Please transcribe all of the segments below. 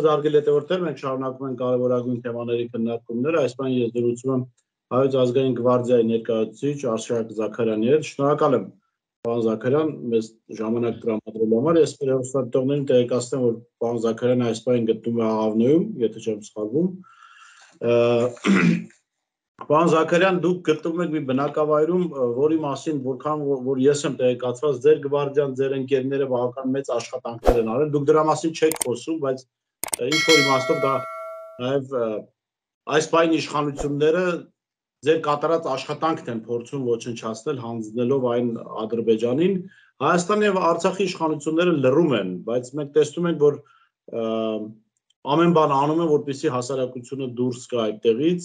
զարգել հետևորդներ, մենք շարունակում ենք կարևորագույն թեմաների քննարկումները, այս բան ես դրուցում եմ Հայոց ազգային գվարդիայի ներկայացուցիչ Արշակ Զաքարյանի հետ, շնորհակալ եմ պարոն Զաքարյան, մեզ ժամանակ տրամադրելու համար, ես մեր հեռուստադիտողներին տեղեկացնեմ, որ պարոն Զաքարյանը այս պահին գտնվում է Աղավնոյում, եթե չեմ սխալվում, Պարոն Զաքարյան, դուք գտնվում եք մի բնակավայրում, որի մասին որքան որ ես եմ տեղեկացված, ձեր գվարդիան, ձեր ընկերները բավական մեծ աշխատանքներ են արել, դուք դրա մասին չեք խոսում, բայց ինչ որ իմաստով դա նաև այս պահին իշխանությունները ձեր կատարած աշխատանքն են փորձում ոչնչացնել, հանձնելով այն Ադրբեջանին, Հայաստանի եւ Արցախի իշխանությունները լռում են, բայց մենք տեսնում ենք, որ ամեն բան անում են, որպեսզի հասարակությունը դուրս գա այդտեղից,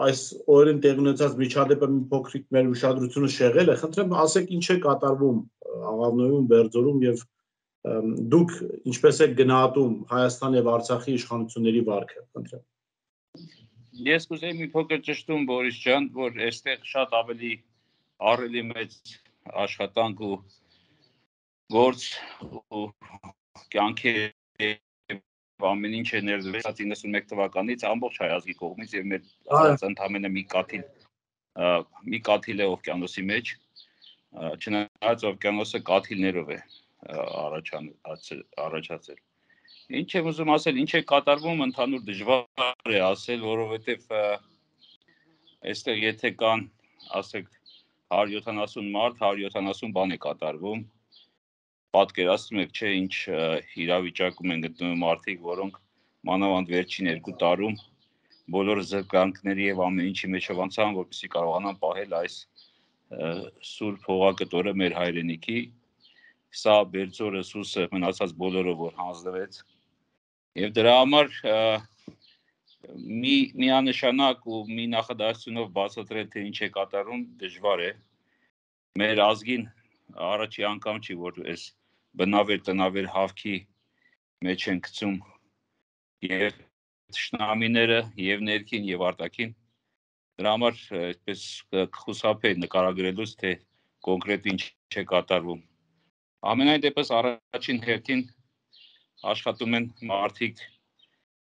այս օրերին տեղի ունեցած միջադեպը մի փոքրիկ մեր ուշադրությունը շեղել է, խնդրեմ ասեք ինչ է կատարվում Աղավնոյում, Բերձորում եւ դուք ինչպես եք գնահատում Հայաստան եւ Արցախի իշխանությունների վարքը, խնդրեմ։ Ես կուզեի մի փոքր ճշտում Բորիս ջան, որ այստեղ շատ ավելի ահռելի մեծ աշխատանք ու գործ ու կյանքի ամեն ինչ է ներդրվել 91 թվականից ամբողջ հայ ազգի կողմից եւ մեր ասած ընդամենը մի կաթիլ է օվկիանոսի մեջ, չնայած օվկիանոսը կաթիլներով է առաջացել։ Ինչ եմ ուզում ասել, ինչ է կատարվում, ընդհանուր դժվար է ասել, որովհետեւ այստեղ եթե կան, ասեք 170 մարդ, 170 բան է կատարվում։ Պատկերացնում եք, չէ, ինչ իրավիճակում են գտնվում մարդիկ, որոնք մանավանդ վերջին 2 տարում բոլոր զրկանքների եւ ամեն ինչի մեջով անցան, որպեսզի կարողանան պահել այս սուրբ հողակտորը մեր հայրենիքի, սա Բերձորը, Սուսը, մնացած բոլորը, որ հանձնվեց։ Եվ դրա համար միանշանակ ու մի նախադասությունով բացատրել, թե ինչ է կատարում, դժվար է։ Մեր ազգին առաջի անգամ չի, որ այս բնավեր տնավեր հավքի մեջ են գցում եւ թշնամիները եւ ներքին եւ արտաքին դրա համար այսպես խուսափել նկարագրելուց թե կոնկրետ ինչ է կատարվում ամենայն դեպս առաջին հերթին աշխատում են մարդիկ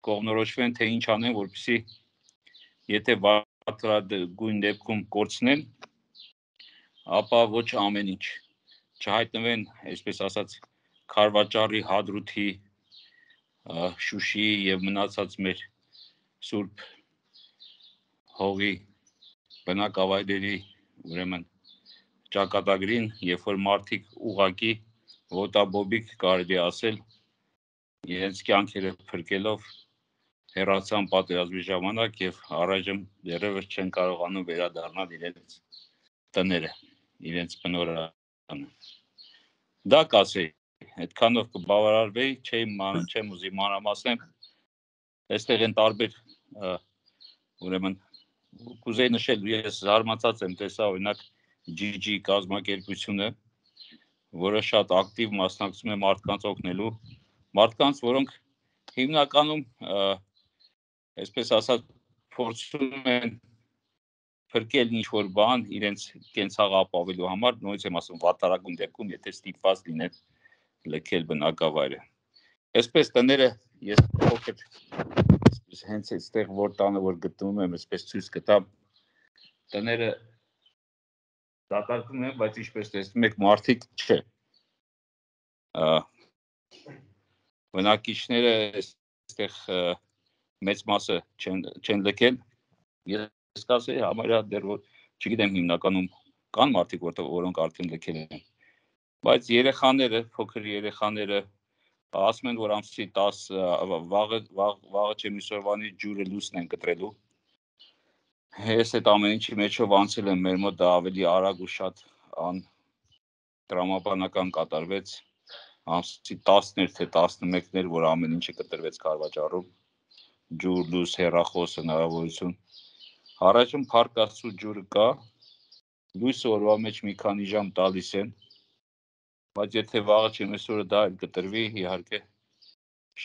կողմնորոշվեն թե ինչ անեն որպեսզի եթե վատրագույն դեպքում կորցնեն ապա ոչ ամեն ինչ չհայտնվեն, այսպես ասած, Քարվաճարի, Հադրութի, Շուշիի եւ մնացած մեր սուրբ հողի բնակավայրերի, ուրեմն ճակատագրին, երբ որ մարդիկ ուղակի ոտաբոբիկ կարելի ասել, իրենց կյանքերը փրկելով հեռացան պատերազմի ժամանակ եւ առայժմ դեռևս չեն կարողանում վերադառնալ իրենց տները, իրենց բնորանը Դա կասեի, այդքանով կբավարարվեի, չեմ ուզի մանրամասնեմ, այստեղ են տարբեր, ուրեմն, կուզեի նշել, ես զարմացած եմ տեսա, օրինակ, GG կազմակերպությունը, որը շատ ակտիվ մասնակցում է մարդկանց օգնելու, մարդկանց, որոնք հիմնականում, այսպես ասած, փորձում են փրկել ինչ-որ բան իրենց կենցաղը ապավելու համար, նույնիսկ եմ ասում վատարագույն դեպքում, եթե ստիպված լինեն լքել բնակավայրը։ Այսպես տները ես փոքր հենց այստեղ որ տանը որ գտնվում եմ, այսպես ցույց կտամ տները դատարկվում են, բայց ինչպես տեսնում եք մարդիկ չէ։ Բնակիչները այստեղ մեծ մասը չեն լքել։ Ես կասեի համարյա դեռ որ չգիտեմ հիմնականում կան մարդիկ որոնք արդեն լքել են բայց երեխաները փոքր երեխաները ասում են որ ամսի 10 վաղը չեմ իսօրվանից ջուրը լուսն են կտրելու ես այդ ամեն ինչի մեջով անցել եմ մեր մոտ դա ավելի արագ ու շատ տրամաբանական կատարվեց ամսի 10-ներ թե 11-ներ որ ամեն ինչը կտրվեց Քարվաճարում ջուր լույս հեռախոս հնարավորություն Առաջում փառք Աստծո ջուրը կա, լույսը օրվա մեջ մի քանի ժամ տալիս են, բայց եթե վաղը չեմ այսօրը դա էլ կտրվի, իհարկե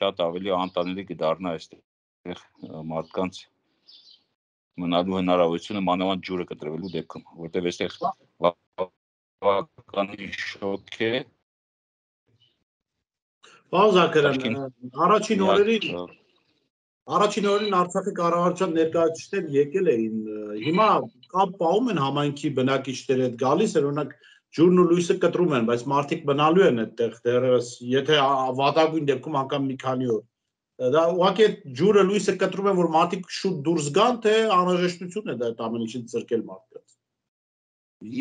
շատ ավելի անտանելի կդառնա այստեղ մարդկանց մնալու հնարավորությունը մանավանդ ջուրը կտրվելու դեպքում, որտեղ այստեղ բավականին շոկ է։ Պարոն Զաքարյան, առաջին օրերին Արցախի կառավարության ներկայացուցիչներ եկել էին, հիմա կապ պահում են համայնքի բնակիչների հետ, գալիս են, օրինակ ջուրն ու լույսը կտրում են, բայց մարդիկ մնալու են այդտեղ դեռևս, եթե վատագույն դեպքում անգամ մի քանի օր։ Դա ուղղակի ջուրը լույսը կտրում են, որ մարդիկ շուտ դուրս գան, թե անհրաժեշտություն է դա այդ ամեն ինչից զրկել մարդկանց։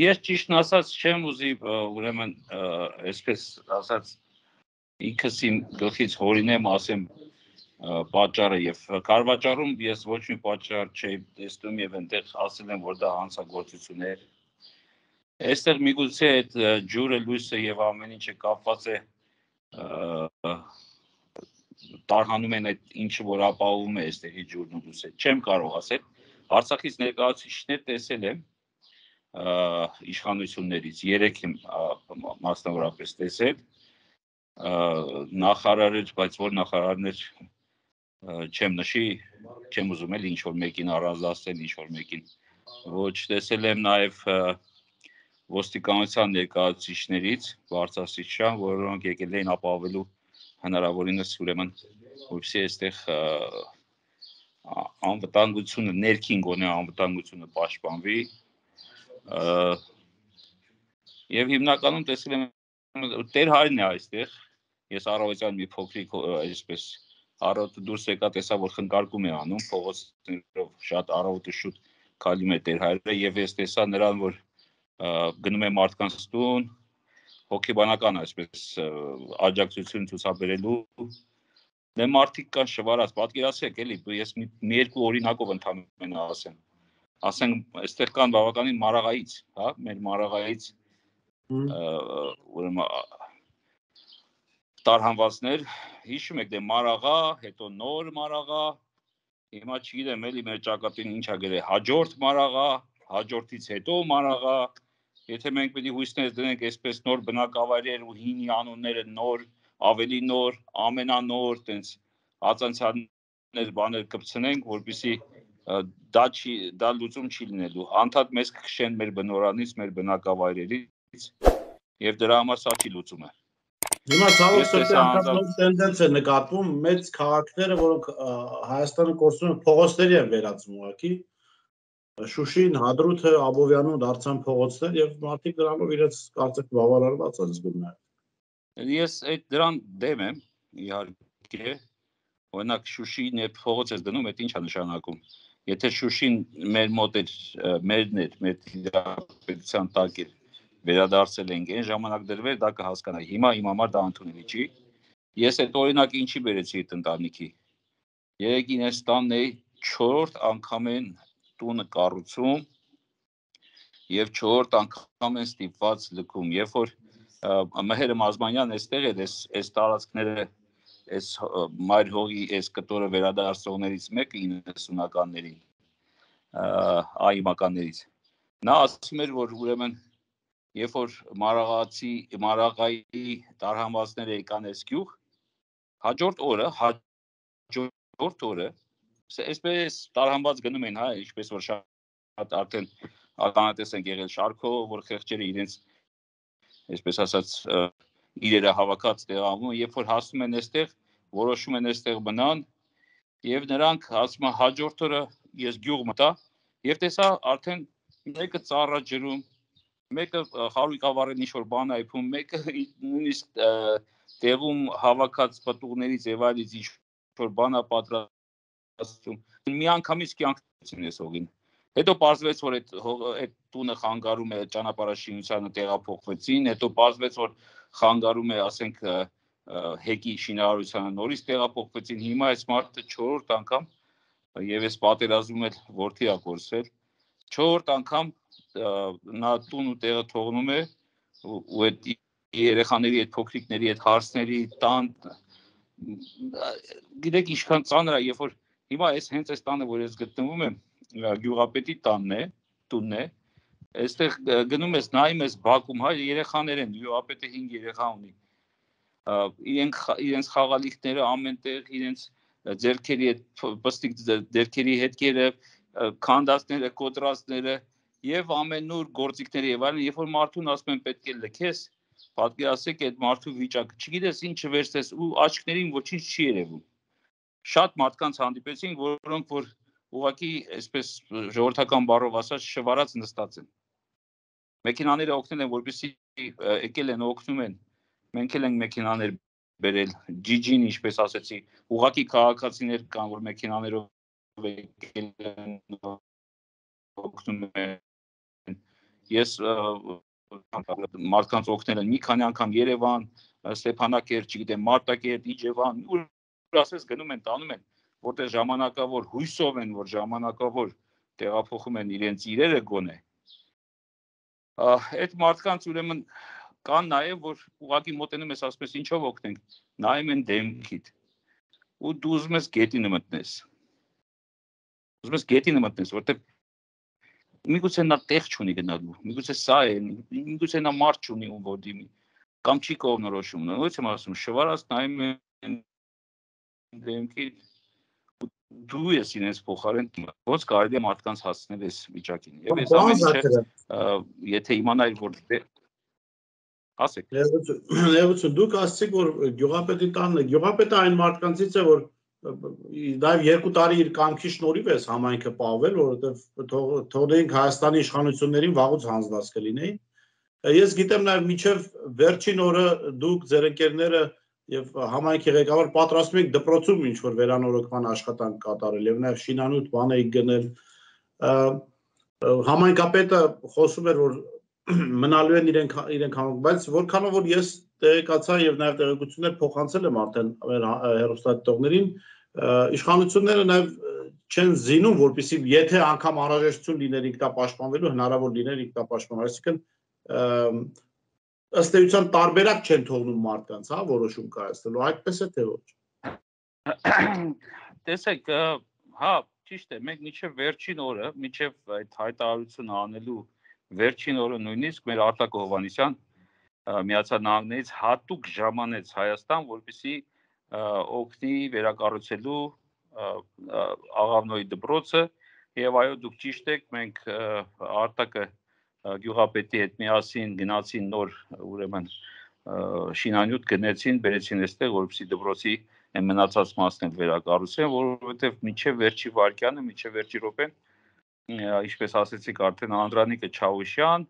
Ես ճիշտն ասած չեմ ուզի ուրեմն այսպես ասած ինքս իմ գլխից հորինեմ, ասեմ պատճառը եւ կառավարում ես ոչ մի պատճառ չէի տեսնում եւ այնտեղ ասել եմ, որ դա հանցագործություն է։ Այստեղ միգուցե այդ ջուրը, լույսը եւ ամեն ինչը կապված է տարհանում են այդ ինչը որ ապահովում է այստեղի ջուրն ու լույսը։ Չեմ կարող ասել։ Արցախից ներկայացուցիչներ տեսել եմ իշխանություններից 3 եմ մասնավորապես տեսել նախարարներ, բայց որ նախարարներ չեմ նշի, չեմ ուզում էլ ինչ որ մեկին առանձնացնել, ինչ որ մեկին ոչ տեսել եմ նաև ոստիկանության ներկայացուցիչներից բարձրաստիճան, որոնք եկել էին ապահովելու հնարավորինս ուրեմն որպեսզի այստեղ անվտանգությունը ներքին գոնե անվտանգությունը պաշտպանվի եւ հիմնականում տեսել եմ Տեր Հայրն է այստեղ ես առավոտյան մի փոքրիկ այսպես առավոտը դուրս եկա տեսա որ խնկարկում է անում փողոցներով շատ առավոտը շուտ քայլում է Տեր Հայրը եւ ես տեսա նրան որ գնում է մարդկանց տուն հոգեբանական այսպես աջակցություն ցուցաբերելու դե մարդիկ կան շվարած պատկերացրեք էլի ես մի երկու օրինակով ընդհանրապես ասենք այստեղ կան բավականին մարաղայից հա մեր մարաղայից ուրեմն տարհանվածներ հիշում եք դե մարաղա հետո նոր մարաղա հիմա չգիտեմ էլի մեր ճակատին ինչա գրել հաջորդ մարաղա հաջորդից հետո մարաղա եթե մենք պետք է հույսներ դնենք այսպես նոր բնակավայրեր ու հինի անունները նոր ավելի նոր ամենանոր տենց ածանցաններ բաներ կպցնենք որպեսզի դա լուծում չի լինելու անդադ մեզ կքշեն մեր բնորանից մեր բնակավայրերից եւ դրա համար սա չի լուծումը Հիմա ցավոք սրտի անգամ տենդենց է նկատվում մեծ քաղաքները, որոնք Հայաստանը կորցնում են փողոցների են վերածում ուղղակի Շուշին, Հադրութը, Աբովյանում դարձան փողոցներ եւ մարդիկ դրանով իրենց կարծեք բավարարված են զգում նաեւ։ Ես այդ դրան դեմ եմ իհարկե օրինակ Շուշին երբ փողոց ես դնում, այդ ի՞նչ է նշանակում։ Եթե Շուշին մեր մոտ էր, մերն էր, մեր պետության տակ էր վերադարձել ենք այն ժամանակ դրվել դա կհասկանայի հիմա իմ համար դա ընդունելի չի ես այդ օրինակը ինչի բերեցի այդ ընտանիքի երեքին այս տանն էի 4-րդ անգամ են տունը կառուցում եւ 4-րդ անգամ են ստիպված լքում երբ որ Մհերը Մազմանյան այստեղ էր այս տարածքները այս մայր հողի այս կտորը վերադարձողներից մեկը 90-ականներին այմականներից նա ասում էր որ ուրեմն Երբ որ մարաղայի տարհանվածները եկան այս գյուղ, հաջորդ օրը, այսպես տարհանված գնում են, հա, ինչպես որ շատ արդեն ականատես են եղել շարքով, որ խեղճերը իրենց, այսպես ասած, իրերը հավաքած տեղանում, երբ որ հասնում են այստեղ, որոշում են այստեղ մնան, եւ նրանք ասում են հաջորդ օրը ես գյուղ մտա, եւ տեսա արդեն մեկը ծառա ջրում Մեկը խարույկավառեն ինչ-որ բան այփում, մեկը նույնիսկ տեղում հավաքած պտուղներից եւ այլից ինչ-որ բան է պատրաստում։ Մի անգամից կյանքին ես հողին։ Հետո պարզվեց, որ այդ տունը խանգարում է ճանապարհաշինությանը տեղափոխվեցին, հետո պարզվեց, որ խանգարում է, ասենք, հեկի շինարարությանը նորից տեղափոխվեցին։ Հիմա այս մարդը 4-րդ անգամ եւ ես պատերազմում եմ որդի ա կորսել 4-րդ անգամ նա տուն ու տեղը թողնում է ու այդ երեխաների այդ փոքրիկների այդ հարցների տան գիտեք ինչքան ծանր է երբ որ հիմա հենց այս տանը որ ես գտնվում եմ գյուղապետի տունն է այստեղ գնում ես նայում ես բակում հայ երեխաներ են գյուղապետը 5 երեխա ունի իրենց խաղալիքները ամենտեղ իրենց ձերքերի այդ պստիկ ձերքերի հետքերը քանդածները կոտրածները Եվ ամենուր գործիքների եւ այլն, երբ որ մարդուն ասում են պետք է լքես, պատկերացրեք այդ մարդու վիճակը, չգիտես ինչը վերցես ու աչքներին ոչինչ չի երևում։ Շատ մարդկանց հանդիպեցին, որոնք որ ուղղակի այսպես ժողովրդական բառով ասած շվարած նստած են։ Մեքենաները օգնել են, որպեսզի եկել են օգնում են։ Մենք էլ ենք մեքենաներ բերել, GG-ին ինչպես ասեցի, ուղղակի քաղաքացիներ կան, որ մեքենաներով եկել են օգնում են։ Ես մարդկանց օգնել են մի քանի անգամ Երևան, Ստեփանակերտ, չգիտեմ, Մարտակերտ, Իջևան, ու ասես գնում են, տանում են, որտեղ ժամանակավոր հույսով են, որ ժամանակավոր տեղափոխում են իրենց իրերը գոնե։ Այդ մարդկանց ուրեմն կան նաև որ ուղղակի մոտենում ես ասես ինչով օգնենք, նայում են դեմքիդ։ Ու դու ուզում ես գետինը մտնես։ Ուզում ես գետինը մտնես, որտեղ միգուցե նա տեղ չունի գնալու, միգուցե սա է, միգուցե նա մարդ չունի ում որ դիմի, կամ չի կողմնորոշում, ո՞նց եմ ասում, շվարած նայում են դեմքիդ, դու ես իրենց փոխարեն ոնց կարելի է մարդկանց հասցնել այս վիճակին։ Եվ այս ամեն ինչը եթե իմանայի որ ասեք։ Ներողություն, դուք ասացիք որ գյուղապետի տանն է, գյուղապետը այն մարդկանցից է որ նաև 2 տարի իր կամքի շնորհիվ էս համայնքը պահվել, որովհետև թողնենք Հայաստանի իշխանություններին վաղուց հանձնած կլինեին։ Ես գիտեմ նաև միջև վերջին օրը դուք ձեր ընկերները եւ համայնքի ղեկավար պատրաստում եք դպրոցում ինչ որ վերանորոգման աշխատանք կատարել եւ նաև շինանյութ բան եք գնել։ Համայնքապետը խոսում էր որ մնալու են իրենք համայնք, բայց որքանով որ ես տեղեկացա եւ նաև տեղեկություններ փոխանցել եմ արդեն մեր հեռուստադիտողներին, իշխանությունները նաև չեն զինում, որպեսզի եթե անգամ անհրաժեշտություն լիներ ինքնապաշտպանվելու, հնարավոր լիներ ինքնապաշտպանվել, այսինքն ըստ էության տարբերակ չեն թողնում մարդկանց, հա, որոշում կայացնելու, այդպես է թե ոչ։ Տեսեք, հա, ճիշտ է, մենք մինչև վերջին օրը, մինչև այդ հայտարարությունը անելու վերջին օրը նույնիսկ մեր Արտակ Հովհաննիսյան Միացյալ Նահանգներից հատուկ ժամանեց Հայաստան, որպեսզի օգնի վերակառուցելու Աղավնոյի դպրոցը եւ այո դուք ճիշտ եք, մենք Արտակը գյուղապետի հետ միասին գնացին նոր ուրեմն շինանյութ գնեցին, բերեցին այստեղ, որպեսզի դպրոցի այն մնացած մասն էլ վերակառուցեն, որովհետեւ մինչև վերջի վարկյանը, մինչև վերջի րոպեն, ինչպես ասեցիք արդեն Անդրանիկը Չավուշյան,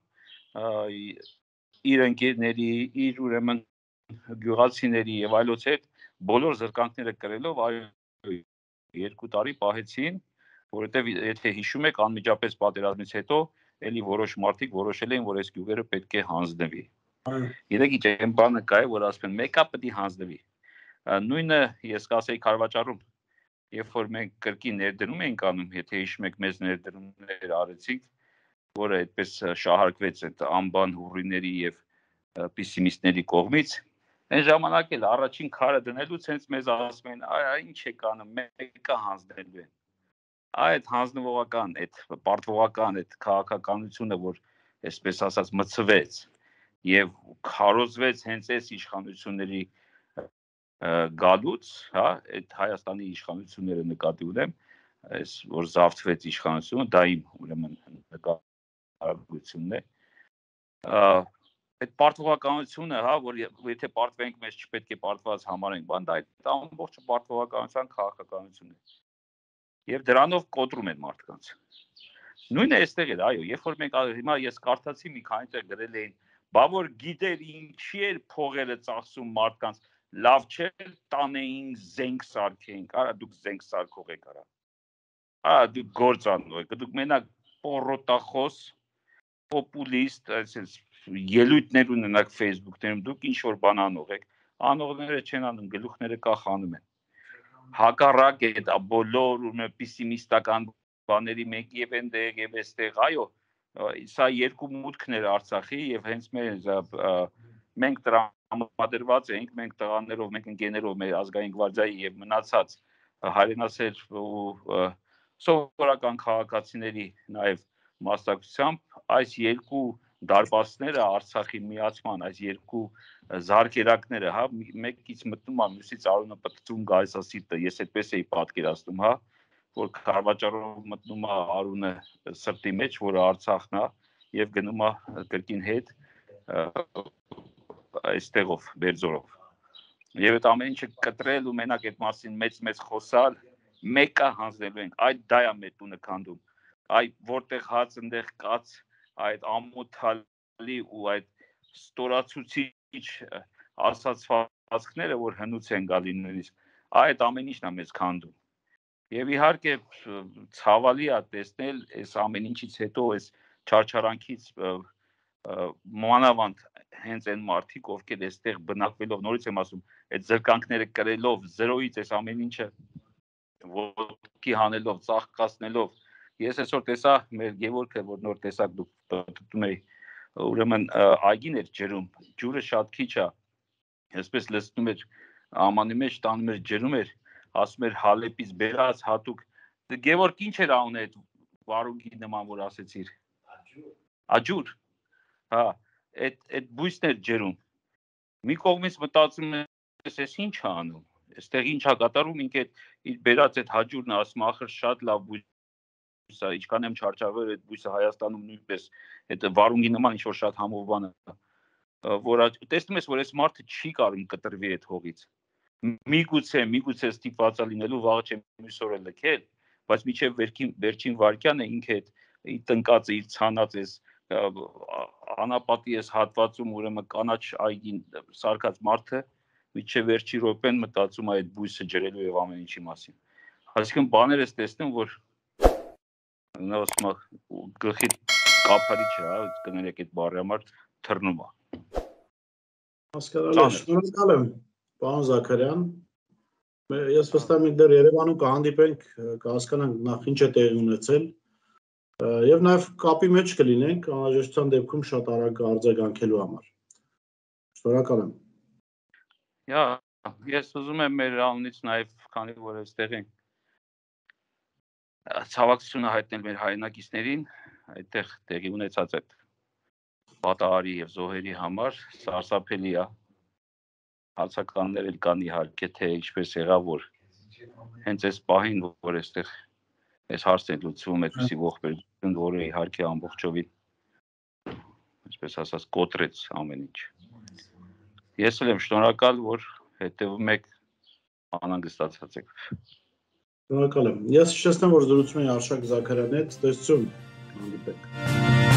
իր ընկերների, իր ուրեմն գյուղացիների եւ այլոց հետ բոլոր զրկանքները կրելով այո 2 տարի պահեցին, որովհետեւ եթե հիշում եք անմիջապես պատերազմից հետո էլի որոշ մարդիկ որոշել էին, որ այս գյուղերը պետք է հանձնվի։ Գիտեք ինչ այն բանը կա է, որ ասում են մեկը պետք է հանձնվի։ Նույնը ես կասեի Քարվաճարում, երբ որ մենք կրկին ներդրում էինք անում, եթե հիշում եք մեծ ներդրումներ արեցինք, որը այդպես շահարկվեց այդ անբան հուրիների եւ պեսիմիստների կողմից, այն ժամանակ էլ առաջին քարը դնելուց հենց մեզ ասում են, ինչ եք անում, մեկը հանձնելու են։ Այդ հանձնվողական, այդ պարտվողական, այդ քաղաքականությունը, որ այսպես ասած մցվեց եւ քարոզվեց հենց այս իշխանությունների գալուց, հա, այդ Հայաստանի իշխանությունները նկատի ունեմ, այս որ զավթվեց իշխանությունը, դա իմ ուրեմն նկատությունն է։ Այդ պարտվողականությունը, հա, որ եթե պարտվենք, մեզ չպետք է պարտված համարենք, բան դա այդ ամբողջը պարտվողականության քաղաքականությունն է։ Եվ դրանով կոտրում են մարդկանց։ Նույնը այստեղ էր, այո, երբ որ մենք հիմա ես կարդացի մի քանի տեղ գրել էին, բա որ գիտեր ինչի էր փողերը ծախսում մարդկանց, լավ չէ տանեին զենք սարքեինք, արա դուք զենք սարքող եք արա։ Արա դուք գործանող եք, դուք մենակ պորոտախոս, պոպուլիստ, այսպես ելույթներ ունենաք Facebook-ներում, դուք ինչ որ բան անող եք, անողները չեն անում, գլուխները կախանում են։ Հակառակ է դա բոլոր ու պեսիմիստական բաների մեկ եւ այնտեղ եւ այստեղ, այո, սա երկու մուտքներ Արցախի եւ հենց մենք տրամադրված ենք, մենք տղաներով, մենք ընկերներով, մեր ազգային գվարդիայի եւ մնացած հայրենասեր ու սովորական քաղաքացիների նաեւ մասնակցությամբ այս երկու դարպասները Արցախի միացման, այս երկու զարկերակները, հա, մեկից մտնում է, մյուսից արունը պտտում գալիս է սիրտը, ես այդպես էի պատկերացնում, հա, որ Քարվաճարով մտնում է արունը սրտի մեջ, որը Արցախն է, եւ գնում է կրկին հետ այստեղով, Բերձորով։ Եվ այդ ամեն ինչը կտրել ու մենակ այդ մասին մեծ խոսալ, մեկը հանձնելու ենք, այդ դա է մեր տունը քանդում, այդ որտեղ հաց ընդեղ կաց, այդ ամոթալի ու այդ ստորացուցիչ ասացվածքները, որ հնուց են գալի նույնիսկ, այդ ամեն ինչն է մեզ քանդում։ Եվ իհարկե ցավալի է տեսնել այս ամեն ինչից հետո այս չարչարանքից մանավանդ հենց այն մարդիկ, ովքեր այստեղ բնակվելով, նորից եմ ասում, այդ զրկանքները կրելով, զրոյից այս ամեն ինչը ոտքի հանելով, ծաղկացնելով, ես այսօր տեսա մեր Գևորգը, որ նոր տեսակ դուք պատտում էի, ուրեմն այգին էր ջրում, ջուրը շատ քիչ է, այսպես լսնում էր ամանի մեջ տանում էր ջրում էր, ասում էր Հալեպից բերած հատուկ, Գևորգ ինչ էր անում այդ վարունգի նման, որ ասեցիր, աջուր, հա, այդ բույսն էր ջրում, մի կողմից մտածում ես, ես ինչ է անում, այստեղ ինչ է կատարում, ինքը իր բերած այդ հաջուրն ասում ախր շատ լավ բույս է, ինչքան եմ չարչարվել այդ բույսը Հայաստանում նույնպես այդ վարունգի նման ինչ որ շատ համով բան է, որ տեսնում ես, որ այս մարդը չի կարող կտրվի այդ հողից, միգուցե ստիպված է լինելու վաղը չեմ մյուս օրը լքել, բայց մինչև վերջին վարկյանը ինքը այդ տնկածը իր ցանած էս անապատի էս հատվածում ուրեմն կանաչ այգին սարկած մարդը մինչև վերջի րոպեն մտածում է այդ բույսը ջրելու եւ ամեն ինչի մասին։ Այսինքն բաներ ես տեսնում, որ նա ասում է գլխի կափարի չէ, հա, կներեք այդ բառի համար թռնում է։ Հասկանալի է, շնորհակալ եմ, պարոն Զաքարյան։ Ես վստահ եմ դեռ Երևանում կհանդիպենք, կհասկանանք նախ ինչ է տեղի ունեցել եւ նաեւ կապի մեջ կլինենք անհրաժեշտության դեպքում շատ արագ արձագանքելու համար։ Շնորհակալ եմ։ Ես ուզում եմ մեր անունից նաեւ քանի որ այստեղ ենք ցավակցությունը հայտնել մեր հայրենակիցներին, այդտեղ տեղի ունեցած այդ պատահարի եւ զոհերի համար սարսափելի է։ Հարցականներ էլ կան իհարկե թե ինչպես եղավ որ հենց այս պահին որ այստեղ այս հարցն է լուծվում այդպիսի ողբերգություն որը իհարկե ամբողջովին այսպես ասած կոտրեց ամեն ինչ։ Ես էլ եմ շնորհակալ որ հետևում եք անհանգստացած եք։ Շնորհակալ եմ։ Ես հիշեցնեմ որ զրուցում էի Արշակ Զաքարյանի հետ, տեսություն հանդիպենք։